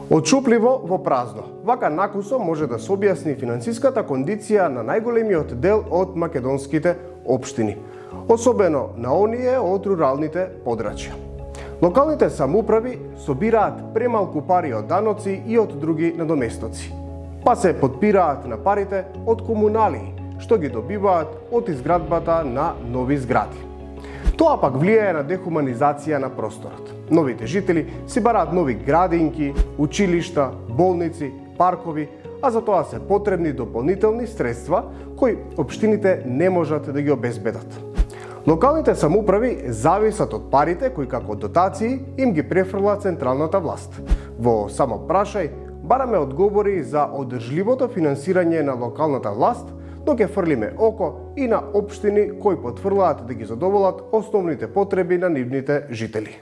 Отшупливо во празно. Вака накусо може да се објасни финансиската кондиција на најголемиот дел од македонските општини, особено на оние од руралните подрачја. Локалните самоуправи собираат премалку пари од даноци и од други надоместоци, па се потпираат на парите од комуналии, што ги добиваат од изградбата на нови згради. Тоа пак влијае на дехуманизација на просторот. Новите жители си бараат нови градинки, училишта, болници, паркови, а за тоа се потребни дополнителни средства кои општините не можат да ги обезбедат. Локалните самоуправи зависат од парите кои како дотации им ги префрла централната власт. Во само прашај бараме одговори за одржливото финансирање на локалната власт, но ќе фрлиме око и на општини кои потврлаат да ги задоволат основните потреби на нивните жители.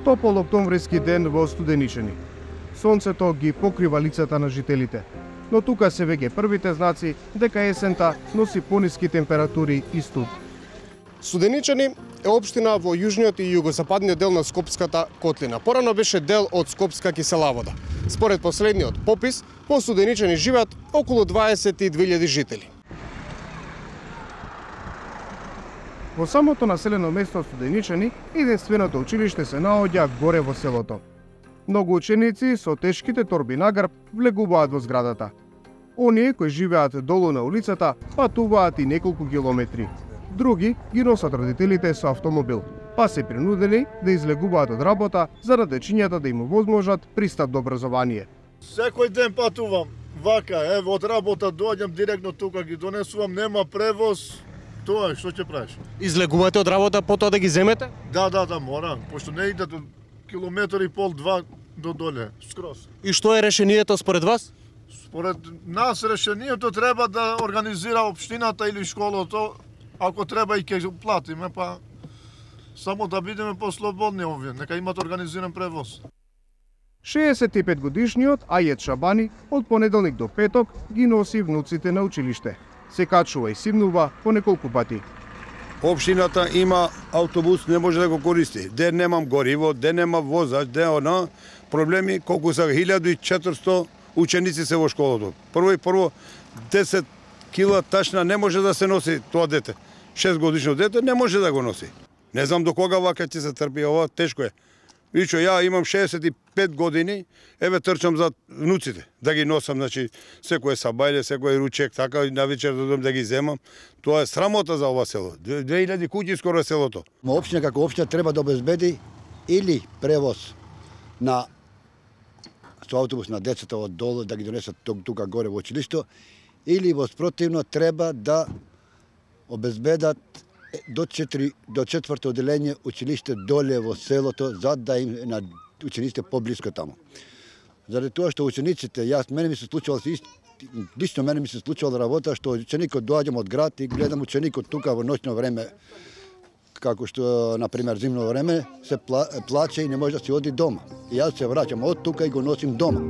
Топол октомвриски ден во Студеничани. Сонцето ги покрива лицата на жителите, но тука се веќе првите знаци дека есента носи пониски температури и студ. Студеничани е општина во јужниот и југозападниот дел на Скопската котлина. Порано беше дел од Скопска киселавода. Според последниот попис, во Студеничани живеат околу 22.000 жители. Во самото населено место Студеничани, единственото училиште се наоѓа горе во селото. Многу ученици со тешките торби на грб влегуваат во зградата. Оние кои живеат долу на улицата патуваат и неколку километри. Други ги носат родителите со автомобил, па се принудени да излегуваат од работа за да дечињата да им овозможат пристап до образование. Секој ден патувам, вака, од работа доаѓам директно тука, ги донесувам, нема превоз. Тоа е, што ќе правиш? Излегувате од работа потоа да ги земете? Да, мора, пошто не иде до километар и пол, два до доле, скроз. И што е решението според вас? Според нас решението треба да организира општината или школото, ако треба и ќе платиме, па само да бидеме послободни овие, нека имат организиран превоз. 65 годишниот Ајет Шабани од понеделник до петок ги носи внуците на училиште. Се качува и симнува по неколку пати. Општината има автобус, не може да го користи. Ден немам гориво, ден нема возач, ден она. Проблеми колку са 1400 ученици се во школото. Прво 10 кила тачна не може да се носи тоа дете. 6 годишно дете не може да го носи. Не знам до кога вака ќе се трпи, ова тешко е. Вичо, ја имам 65 години, еве трчам за внуците, да ги носам, значи, секој сабајле, секој ручек, така, и на вечер додам да ги земам. Тоа е срамота за ова село. 2000 куќи скоро селото. Општина како општина треба да обезбеди или превоз со автобус на децата од долу, да ги донесат тука горе во училишто, или во спротивно треба да обезбедат до четврто оделение училиште доле во селото, за да им на учениците поблиско таму. Заради тоа што учениците, мене ми се случувало лично мене ми се случувало работа што ученикот доаѓам од град и гледам ученикот тука во ноќно време, како што на пример зимно време се плаче и не може да си оди дома. И јас се враќам од тука и го носим дома.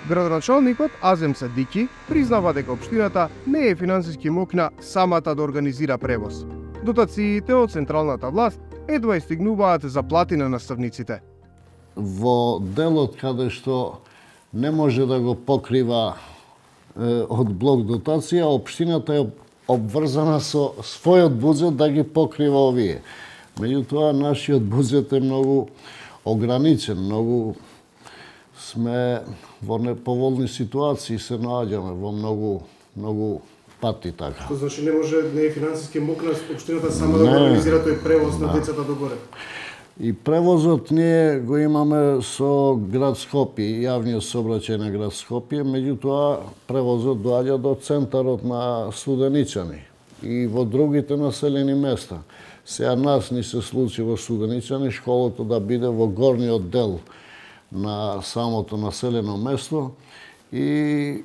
Градоначалникот Азем Садики признава дека општината не е финансиски мокна самата да организира превоз. Дотациите од централната власт едва стигнуваат за плати на наставниците. Во делот каде што не може да го покрива од блок дотација, општината е обврзана со својот буџет да ги покрива овие. Меѓутоа, нашиот буџет е многу ограничен, многу сме во неповолни ситуации, се наоѓаме во многу пати така. Тоа значи не може, не е финансиски мокна општината сама да организира тој превоз на децата догоре. И превозот ние го имаме со град Скопје, јавниот сообраќај на град Скопје, меѓутоа превозот доаѓа до центарот на Студеничани и во другите населени места. Сега нас ни се случи во Студеничани школото да биде во горниот дел на самото населено место и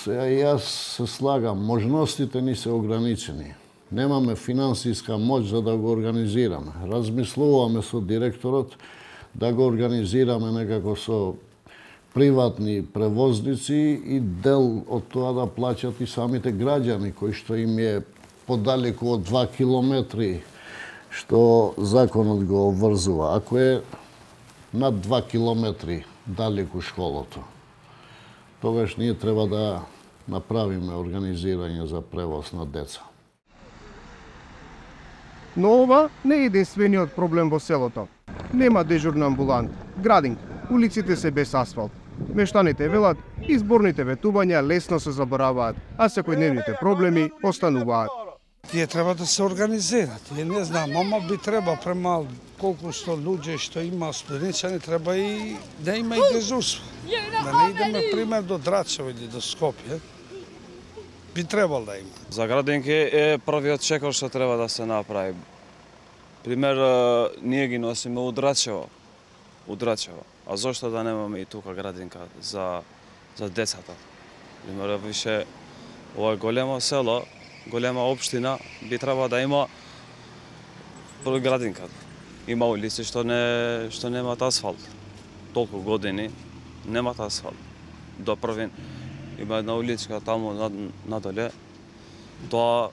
сега јас се слагам, можностите ни се ограничени. немаме финансиска моќ за да го организираме. Размислуваме со директорот да го организираме некако со приватни превозници и дел од тоа да плаќат и самите граѓани, кои што им е подалеку од 2 километри, што законот го обврзува. Ако е над 2 километри далеку школото, тогаш ние треба да направиме организирање за превоз на деца. Но ова не е единствениот проблем во селото. Нема дежурна амбулант, градинг, улиците се без асфалт. Мештаните велат, изборните ветувања лесно се забораваат, а секојдневните проблеми остануваат. Тие треба да се организираат. Тие не знам, ама би треба према колку што луѓе што има студенчани, треба и да има и дежурство. Да не идеме пример до Драчево или до Скопје. Би требало да има. За градинки е првиот чекор што треба да се направи. Пример, ние ги носиме у Драчево. А зошто да немаме и тука градинка за децата? Пример, више ова големо село, голема општина, би треба да има прво градинка. Има улици што немаат асфалт. Толку години немаат асфалт. До првин има една уличка таму надоле. Тоа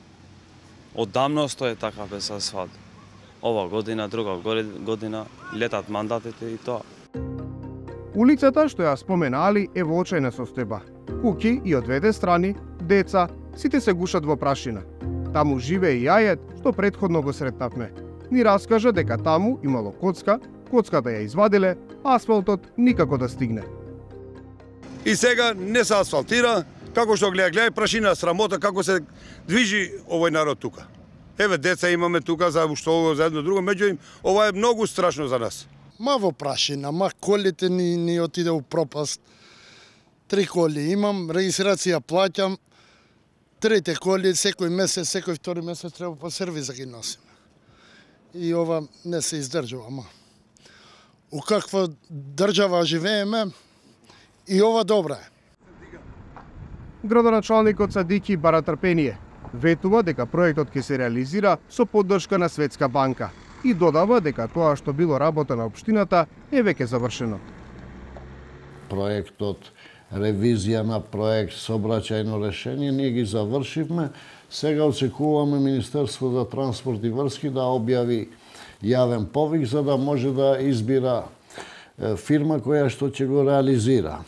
оддамно стои така без асфалт. Ова година, друга година, летат мандатите и тоа. Улицата што ја спомена Али е во очајна состојба. Куќи и од двете страни, деца, сите се гушат во прашина. Таму живее и јајет што претходно го сретнавме. Ни раскажа дека таму имало коцка, коцката ја извадиле, асфалтот никако да стигне. И сега не се асфалтира, како што гледа прашина, срамота како се движи овој народ тука. Еве деца имаме тука за ушто за едно друго, меѓутоа ова е многу страшно за нас. Ма во прашина, колите ни отиде у пропаст. 3 коли имам, регистрација плаќам, 3 коли секој месец, секој втори месец треба по сервис да ги носиме. И ова не се издржува, ама. У каква држава живееме, и ова добра е. Градоначалникот Садики бара трпение. Ветува дека проектот ќе се реализира со поддршка на Светска банка и додава дека тоа што било работа на општината е веќе завршено. Проектот, ревизија на проект, сообраќајно решение, ние ги завршивме. Сега очекуваме Министерство за транспорт и врски да објави јавен повик за да може да избира фирма која што ќе го реализира.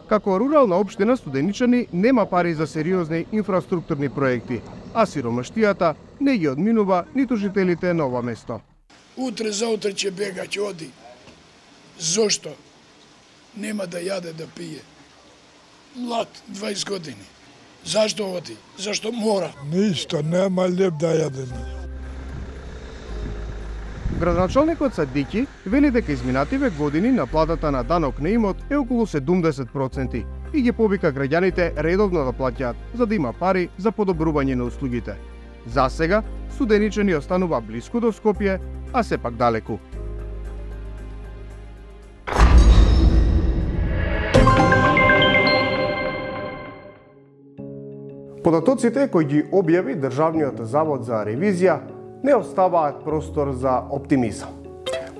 Како рурална општина Студеничани нема пари за сериозни инфраструктурни проекти, а сиромаштијата не ги одминува ниту жителите на ова место. Утре заутре ќе бега, ќе оди. Зошто? Нема да јаде, да пие. Млад, 20 години. Зашто оди? Зашто мора? Ништо, нема леп да јаде. Градоначалникот Садики вели дека изминативе години наплатата на данок на имот е околу 70% и ги повика граѓаните редовно да плаќаат, за да има пари за подобрување на услугите. За сега, Студеничани останува блиску до Скопје, а сепак далеку. Податоците кои ги објави Државниот завод за ревизија не оставаат простор за оптимизам.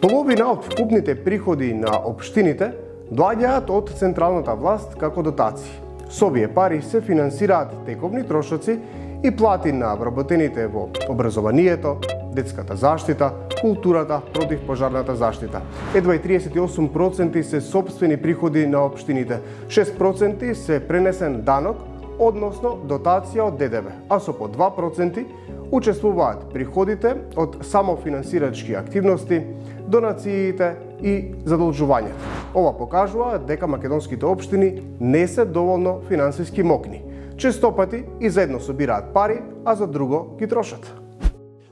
Половина од вкупните приходи на општините доаѓаат од централната власт како дотации. Со овие пари се финансираат тековни трошоци и плати на вработените во образованието, детската заштита, културата, противпожарната заштита. Едва и 38% се сопствени приходи на општините, 6% се пренесен данок, односно дотација од ДДВ, а со по 2% учествуваат приходите од самофинансирачки активности, донациите и задолжувањата. Ова покажува дека македонските општини не се доволно финансиски мокни. Честопати и за едно собираат пари, а за друго ги трошат.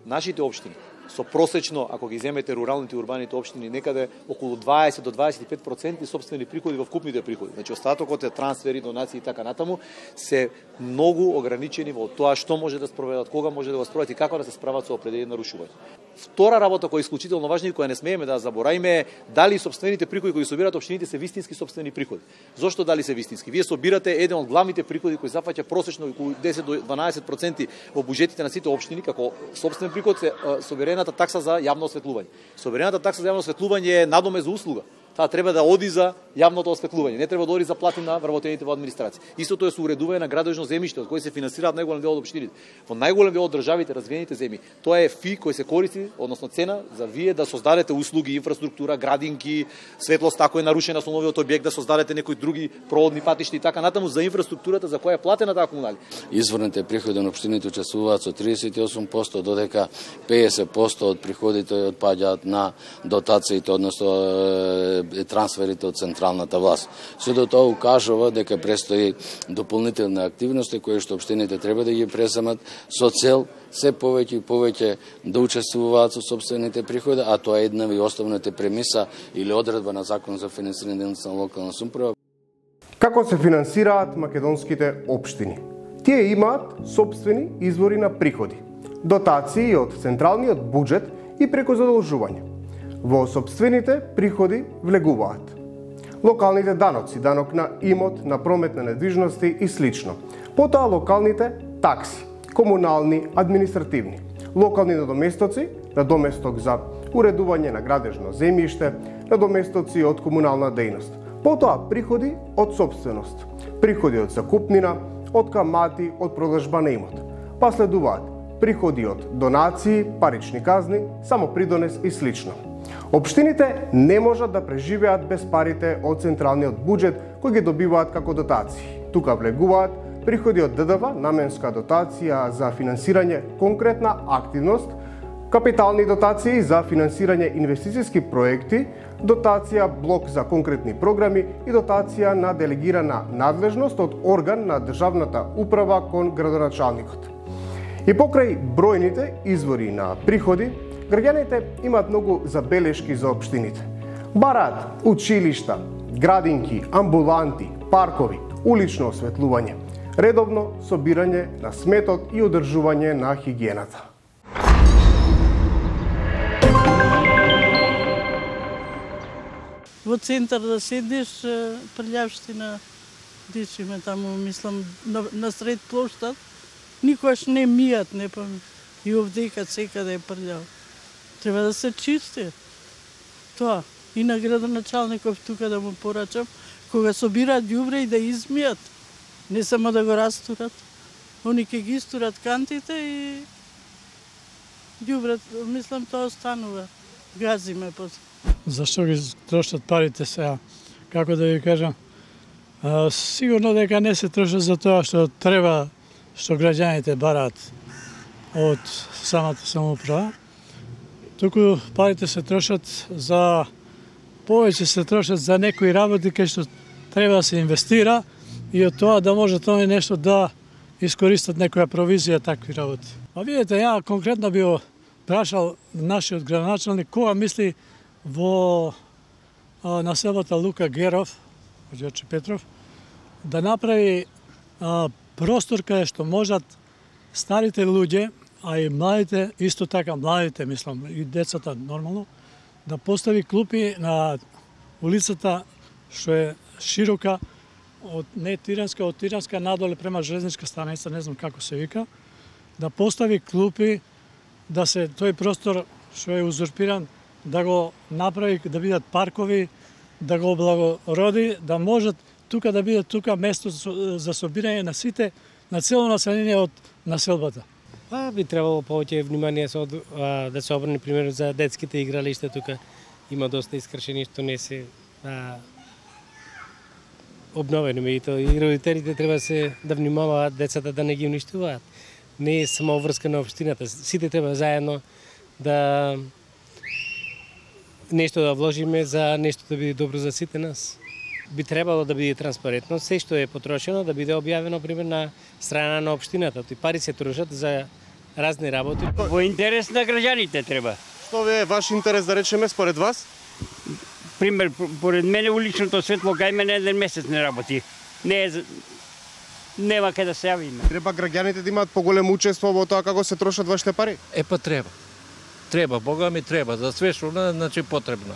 Нашите општини со просечно, ако ги земете руралните и урбаните општини, некаде околу 20 до 25% собствени приходи во вкупните приходи. Значи остатокот е трансфери, донации и така натаму, се многу ограничени во тоа што може да спроведат, кога може да го спроведат и како да се справат со определени нарушувања. Втора работа која е исклучително важна и која не смееме да заборавиме е дали собствените приходи кои собираат општините се вистински собствени приходи. Зошто дали се вистински? Вие собирате еден од главните приходи кои зафаќа просечно околу 10 до 12% во буџетите на сите општини како собствен приход се соберената такса за јавно осветлување. Соберената такса за јавно осветлување е надомест за услуга. Таа треба да оди за јавното осветлување, не треба да оди за плати на вработените во администрација. Истото е со уредување на градежно земјиште од кој се финансираат најголем дел од општините. Во најголем дел од државите, развиените земји, тоа е фи кој се користи, односно цена за вие да создадете услуги, инфраструктура, градинки, светлост ако е нарушена со новиот објект, да создадете некои други проводни патишта и така натаму за инфраструктурата за која е платена таа комунали. Изворните приходи на општините учествуваат со 38%, додека 50% од приходите отпаѓаат на дотациите, односно трансферите од централната власт. Сето тоа укажува дека престои дополнителни активности кои што општините треба да ги преземат со цел се повеќе и повеќе да учествуваат со собствените приходи, а тоа е една и основната премиса или одредба на Закон за финансирање на локална самоуправа. Како се финансираат македонските општини? Тие имаат собствени извори на приходи, дотации од централниот буџет и преку задолжување. Во собствените приходи влегуваат локалните даноци, данок на имот, на промет на недвижности и слично. Потоа локалните такси, комунални, административни, локални надоместоци, надоместок за уредување на градежно земјиште, надоместоци од комунална дејност. Потоа приходи од собственост, приходи од закупнина, од камати, од продажба на имот. Па следуваат приходи од донации, парични казни, самопридонес и слично. Општините не можат да преживеат без парите од централниот буџет кои ги добиваат како дотации. Тука влегуваат приходи од ДДВ, наменска дотација за финансирање конкретна активност, капитални дотации за финансирање инвестициски проекти, дотација блок за конкретни програми и дотација на делегирана надлежност од орган на државната управа кон градоначалникот. И покрај бројните извори на приходи, граѓаните имаат многу забелешки за општините. Бараат училишта, градинки, амбуланти, паркови, улично осветлување, редовно собирање на сметот и одржување на хигиената. Во центар да седиш, прљавштина, дишиме таму, мислам, на сред плоштад, никогаш не мијат, не памет. И овдека секаде е прљав. Треба да се чисти. Тоа. И на градоначалников тука да му порачам, кога собираат ѓубре и да измијат. Не само да го растурат. Они ќе ги истурат кантите и ѓубрат, мислам, тоа останува. Газиме после. Зашто ги трошат парите сега? Како да ви кажам? Сигурно дека не се трошат за тоа што треба, што граѓаните бараат од самата самоуправа. Туку парите се трошат за повеќе се трошат за некои работи кај што треба да се инвестира и од тоа да може тоа нешто да искористат некоја провизија такви работи. А видите, ја конкретно би прашал нашиот градоначалник кога мисли во населбата Лука Геров, Ѓорче Петров, да направи простор каде што можат старите луѓе, а и младите, исто така младите, мислам, и децата нормално, да постави клупи на улицата што е широка, од не Тиранска, од Тиранска надоле према железничка станица, не знам како се вика, да постави клупи, да се тој простор што е узурпиран, да го направи, да бидат паркови, да го облагороди, да можат тука да биде тука место за собирање на сите, на цело население од населбата. Би требало повеќе внимание да се обрне пример за детските игралишта тука. Има доста искршени што не се обновени, и родителите треба да внимаваат децата да не ги уништуваат. Не е само врска на општината, сите треба заедно да нешто да вложиме за нешто да биде добро за сите нас. Би требало да биде транспарентно, се што е потрошено да биде објавено пример на страна на општината. Тој пари се трошат за разни работи. Во интерес на граѓаните треба. Што е ваш интерес, да речеме, според вас? Пример, поред мене уличното светло кај мене еден месец не работи. Нема кај да се јавиме. Треба граѓаните да имаат поголемо учество во тоа како се трошат вашите пари? Па треба. Треба, Бога ми треба, за све што значи потребно.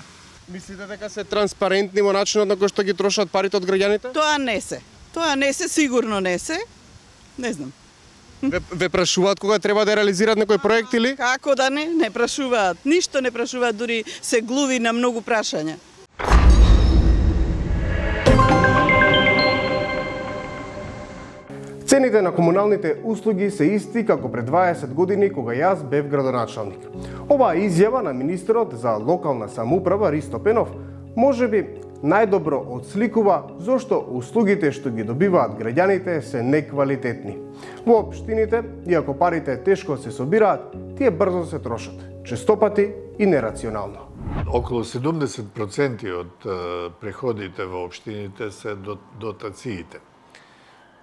Мислите дека се транспарентни во начинот на кој што ги трошат парите од граѓаните? Тоа не се. Тоа не се, сигурно не се. Не знам. Ве прашуваат кога треба да реализираат некој проект или? Како да не прашуваат. Ништо не прашуваат, дури се глуви на многу прашања. Цените на комуналните услуги се исти како пред 20 години кога јас бев градоначалник. Оваа изјава на министерот за локална самоуправа Ристо Пенов можеби најдобро отсликува зошто услугите што ги добиваат граѓаните се неквалитетни. Во општините, иако парите тешко се собираат, тие брзо се трошат, честопати и нерационално. Околу 70% од приходите во општините се дотациите.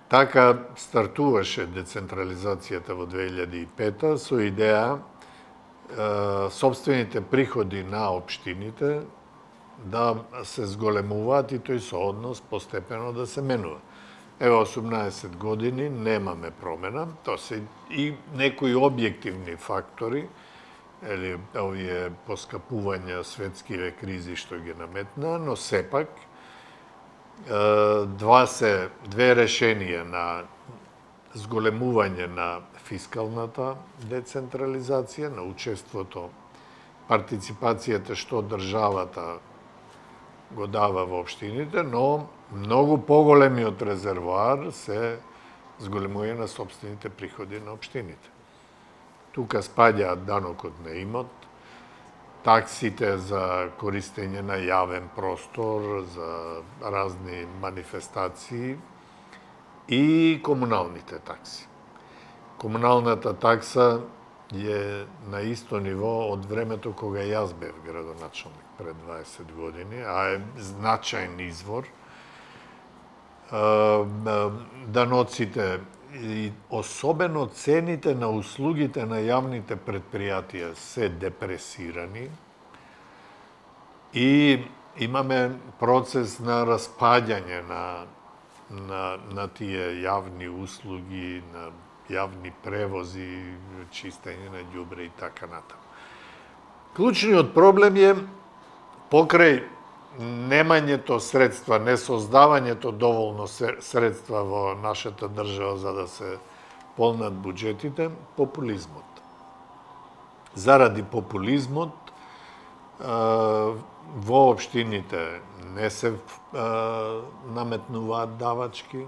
Така стартуваше децентрализацијата во 2005 со идеја собствените приходи на општините да се зголемуваат и тој сооднос постепено да се менува. Ево 18 години немаме промена, тоа се и некои објективни фактори, или овие поскапувања светскиве кризи што ги наметна, но сепак две решенија на зголемување на фискалната децентрализација, на учеството, партиципацијата што државата го дава во општините, но многу поголемиот резервоар се зголемување на собствените приходи на општините. Тука спаѓаат данокот на имот, таксите за користење на јавен простор, за разни манифестации и комуналните такси. Комуналната такса е на исто ниво од времето кога јас бев градоначалник пред 20 години, а е значаен извор. Даноците и особено цените на услугите на јавните предпријатија се депресирани и имаме процес на распаѓање на тие јавни услуги, на јавни превози, чистење на ѓубре и така натаму. Клучниот проблем е покрај немањето средства, несоздавањето доволно средства во нашата држава за да се полнат буџетите, популизмот. Заради популизмот во општините не се наметнуваат давачки,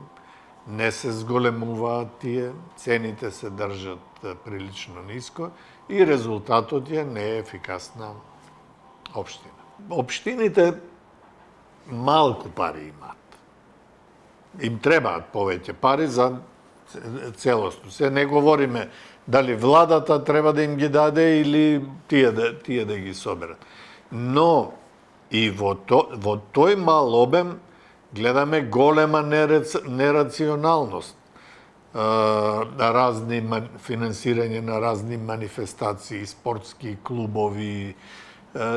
не се зголемуваат тие, цените се држат прилично ниско и резултатот е неефикасна општина. Општините малку пари имаат. Им требаат повеќе пари за целосно. Се не говориме дали владата треба да им ги даде или тие да ги соберат. Но и во тој мал обем гледаме голема нерационалност. Разни финансирање на разни манифестации, спортски клубови,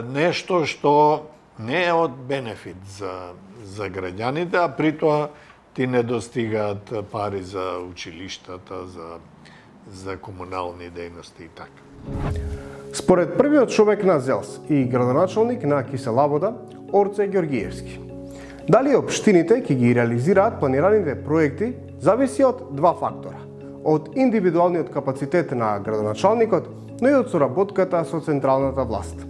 нешто што не е од бенефит за граѓаните, а при тоа ти не достигаат пари за училиштата, за комунални дејности и така. Според првиот човек на ЗЕЛС и градоначалник на Киселавода, Орце Ѓоргиевски, дали општините ќе ги реализираат планираните проекти зависи од два фактора. Од индивидуалниот капацитет на градоначалникот, но и од соработката со централната власт.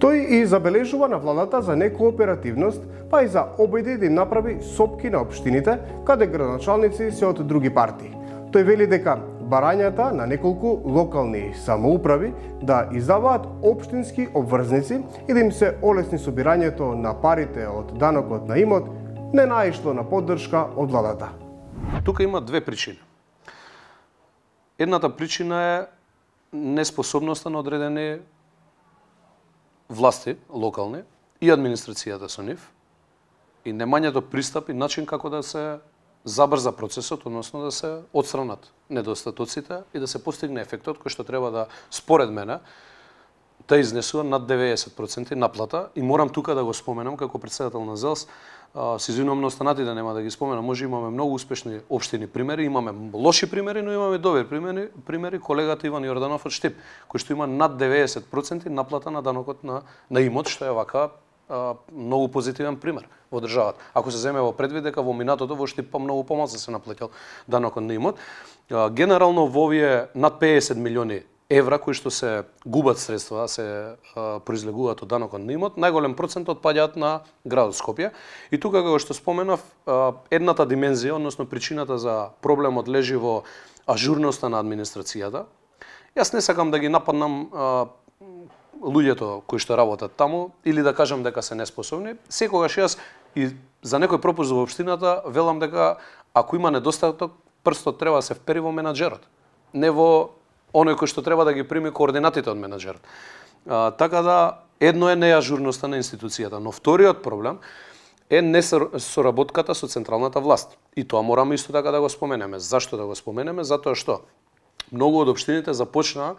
Тој и забележува на владата за некооперативност, па и за обиди да им направи сопки на општините, каде градоначалници се од други партии. Тој вели дека барањата на неколку локални самоуправи да издаваат општински обврзници и да им се олесни собирањето на парите од данокот на имот, не наишло на поддршка од владата. Тука има две причини. Едната причина е неспособноста на одредени власти, локални, и администрацијата со нив, и немањето пристап и начин како да се забрза процесот, односно да се отстранат недостатоците и да се постигне ефектот кој што треба да, според мене, да изнесува над 90% наплата. И морам тука да го споменам како председател на ЗЕЛС, се извинувам на останатите, нема да ги споменам, може имаме многу успешни општини примери, имаме лоши примери, но имаме добри примери. Колегата Иван Јорданов од Штип, кој што има над 90% наплата на данокот на имот, што е вака многу позитивен пример во државата. Ако се земе во предвид дека во минатото во Штип многу помалку се наплатил данокот на имот. Генерално во овие над 50 милиони евра кои што се губат средства, се произлегуваат од данокот на имот, најголем процент отпаѓаат на градот Скопје. И тука, како што споменав, едната димензија, односно причината за проблемот лежи во ажурноста на администрацијата. Јас не сакам да ги нападнам луѓето кои што работат таму или да кажам дека се неспособни. Секогаш јас и за некој пропуст во општината велам дека ако има недостаток, прстот треба да се впери во менаџерот, не во оној кој што треба да ги прими координатите од менаџерот. Така да, едно е неажурноста на институцијата, но вториот проблем е несоработката со централната власт. И тоа мораме исто така да го споменеме. Зашто да го споменеме? Затоа што многу од општините започнаа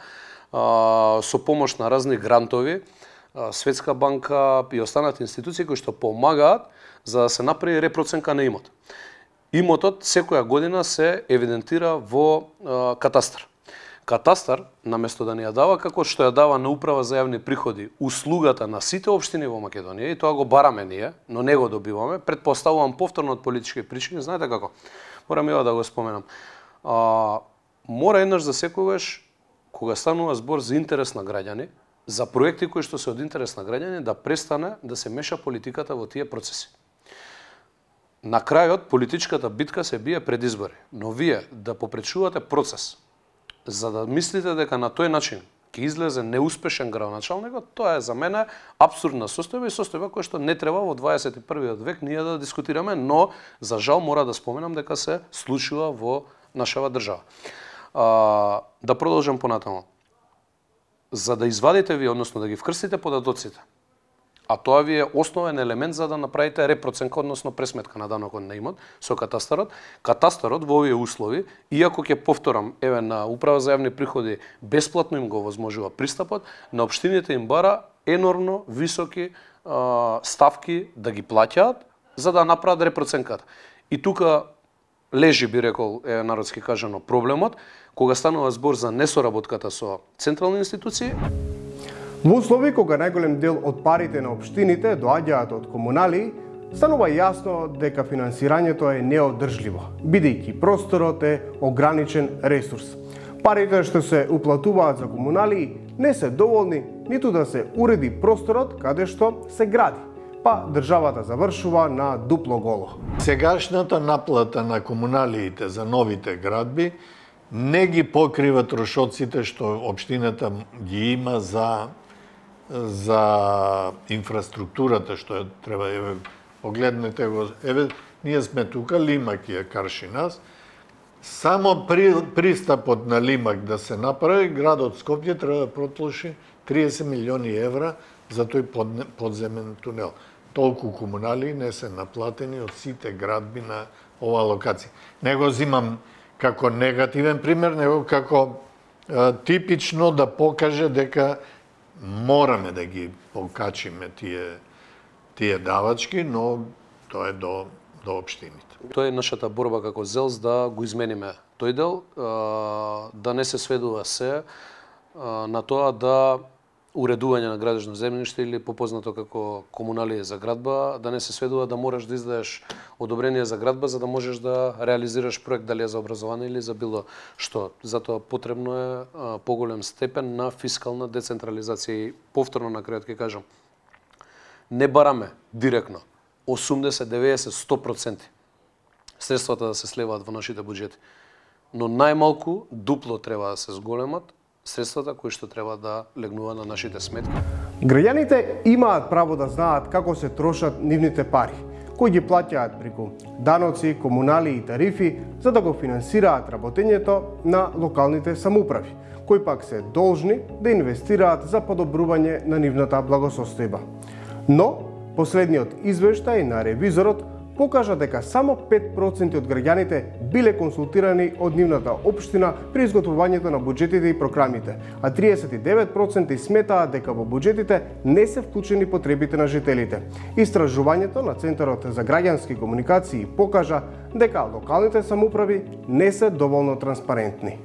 со помош на разни грантови, Светска банка и останати институции кои што помагаат за да се направи репроценка на имот. Имотот секоја година се евидентира во катастар. Катастар, наместо да ни ја дава како што ја дава на Управа за јавни приходи услугата на сите општини во Македонија, и тоа го бараме ние, но не го добиваме, предпоставувам повторно од политички причини, знаете како? Морам ја да го споменам. Мора еднаш за секогаш, кога станува збор за интерес на граѓани, за проекти кои што се од интерес на граѓани, да престане да се меша политиката во тие процеси. На крајот, политичката битка се бие пред избори, но вие да попречувате процес, за да мислите дека на тој начин ќе излезе неуспешен градоначалникот, тоа е за мене апсурдна состојба и состојба која што не треба во 21. век ние да дискутираме, но за жал мора да споменам дека се случува во нашава држава. Да продолжам понатаму. За да извадите ви, односно да ги вкрстите податоците, а тоа ви е основен елемент за да направите репроценка, односно пресметка на данокот на имот со катастарот. Катастарот во овие услови, иако ќе повторам, еве на Управа за јавни приходи бесплатно им го возможува пристапот, на општините им бара енормно високи ставки да ги плаќаат за да направат репроценката. И тука лежи, би рекол, народски кажано, проблемот, кога станува збор за несоработката со централни институции. Во услови кога најголем дел од парите на општините доаѓаат од комунали, станува јасно дека финансирањето е неодржливо, бидејќи просторот е ограничен ресурс. Парите што се уплатуваат за комунали не се доволни ниту да се уреди просторот каде што се гради, па државата завршува на дупло голо. Сегашната наплата на комуналиите за новите градби не ги покрива трошоците што општината ги има за инфраструктурата што треба, еве, погледнете го, еве, ние сме тука, Лимак ја карши нас, само пристапот на Лимак да се направи, градот Скопје треба да протлоши 30 милиони евра за тој подземен тунел. Толку комунали не се наплатени од сите градби на оваа локација. Не го зимам како негативен пример, него како типично да покаже дека мораме да ги покачиме тие давачки, но тоа е до општините. Тоа е нашата борба како ЗЕЛС да го измениме тој дел, да не се сведува се на тоа да уредување на градежно земјиште или попознато како комуналија за градба, да не се сведува да мораш да издадеш одобрение за градба за да можеш да реализираш проект, дали е за образование или за било што. Затоа потребно е поголем степен на фискална децентрализација. И повторно на крајот ќе кажам, не бараме директно 80, 90, 100% средствата да се слеваат во нашите буџети, но најмалку дупло треба да се зголемат средствата кои што треба да легнуваат на нашите сметки. Граѓаните имаат право да знаат како се трошат нивните пари, кои ги плаќаат преку даноци, комунали и тарифи, за да го финансираат работењето на локалните самоуправи, кои пак се должни да инвестираат за подобрување на нивната благосостојба. Но, последниот извештај на ревизорот покажа дека само 5% од граѓаните биле консултирани од нивната општина при изготвувањето на буџетите и програмите, а 39% сметаат дека во буџетите не се вклучени потребите на жителите. Истражувањето на Центарот за граѓански комуникации покажа дека локалните самоуправи не се доволно транспарентни.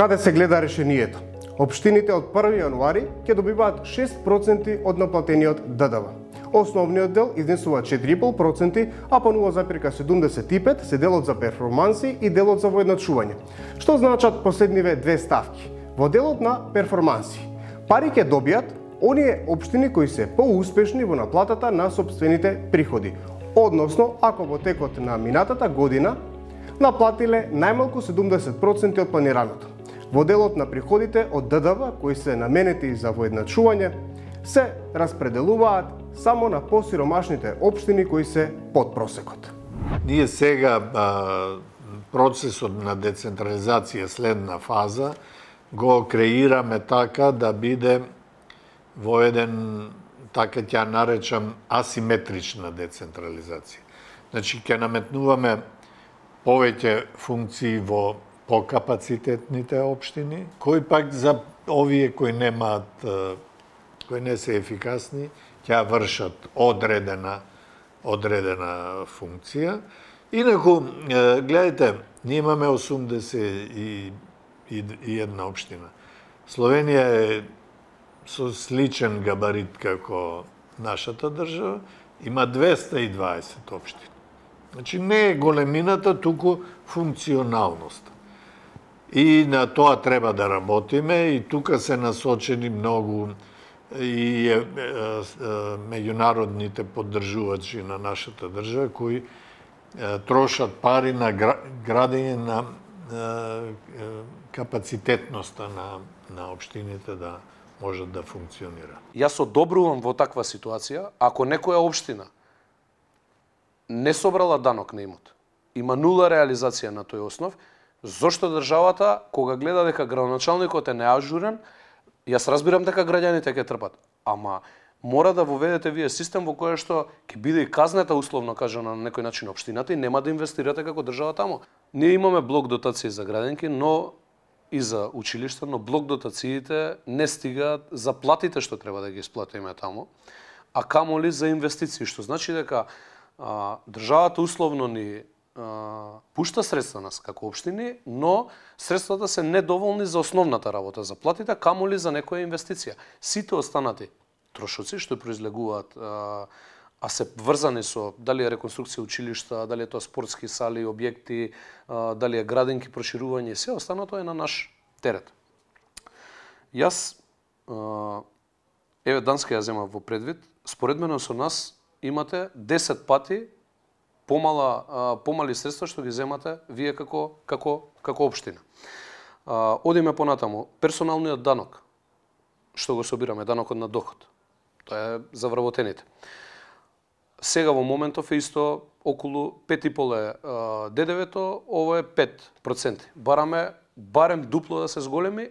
Каде се гледа решението? Општините од 1 јануари ќе добиваат 6% од наплатениот ДДВ. Основниот дел изнесува 4,5%, а по 0,75% се делот за перформанси и делот за воедначување. Што значат последниве две ставки? Во делот на перформанси, пари ќе добијат оние општини кои се поуспешни во наплатата на сопствените приходи, односно ако во текот на минатата година наплатиле најмалку 70% од планираното. Во делот на приходите од ДДВ, кои се наменети за воедначување, се распределуваат само на посиромашните општини кои се под просекот. Ние сега процесот на децентрализација следна фаза го креираме така да биде во еден, така ќе наречам, асиметрична децентрализација. Значи, ќе наметнуваме повеќе функции во покапацитетните општини, кои пак за овие кои немаат, кои не се ефикасни, ќе вршат одредена функција. Инаку, гледайте, ние имаме 81 општина. Словенија е со сличен габарит како нашата држава, има 220 општини. Значи, не е големината, туку функционалноста. И на тоа треба да работиме, и тука се насочени многу и меѓународните поддржувачи на нашата држава, кои трошат пари на градење на капацитетноста на општините да можат да функционира. Јас одобрувам во таква ситуација, ако некоја општина не собрала данок на имот, има нула реализација на тој основ, зошто државата, кога гледа дека градоначалникот е неажурен, јас разбирам дека граѓаните ќе трпат, ама мора да воведете вие систем во кој што ќе биде и казнета условно кажано на некој начин општината и нема да инвестирате како држава таму. Ние имаме блок дотации за градинки, но и за училишта, но блок дотациите не стигаат за платите што треба да ги исплатиме таму, а камоли за инвестиции, што значи дека државата условно ни пушта средства нас како општини, но средствата се недоволни за основната работа, за платите, камоли за некоја инвестиција. Сите останати трошоци што произлегуваат, а се врзани со дали е реконструкција училишта, дали е тоа спортски сали, објекти, дали е градинки, проширување, се останато е на наш терет. Јас, еве Данска ја земам во предвид, според мене со нас имате 10 пати помали средства што ги земате вие како општина. Одиме понатаму, персоналниот данок, што го собираме, данокот на доход, тоа е за вработените. Сега во моментов е исто околу 5,5 е ДДВ-то, ово е 5%. Бараме барем дупло да се зголеми,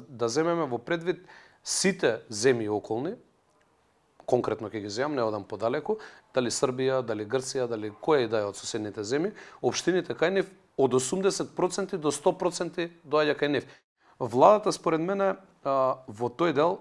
да земеме во предвид сите земји околни, конкретно ќе ги земам, не одам подалеку, дали Србија, дали Грција, дали која и да е од соседните земји, општините кај нив од 80% до 100% доаѓа кај нив. Владата, според мене, во тој дел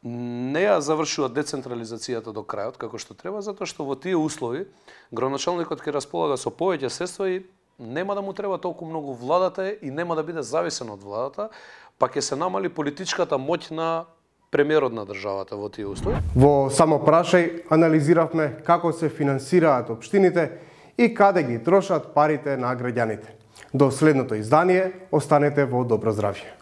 не ја завршува децентрализацијата до крајот како што треба, затоа што во тие услови градоначалникот ќе располага со повеќе средства и нема да му треба толку многу владата и нема да биде зависен од владата, па ќе се намали политичката моќ на премиерот на државата во тие услови. Во Само прашај анализиравме како се финансираат општините и каде ги трошат парите на граѓаните. До следното издание останете во добро здравје.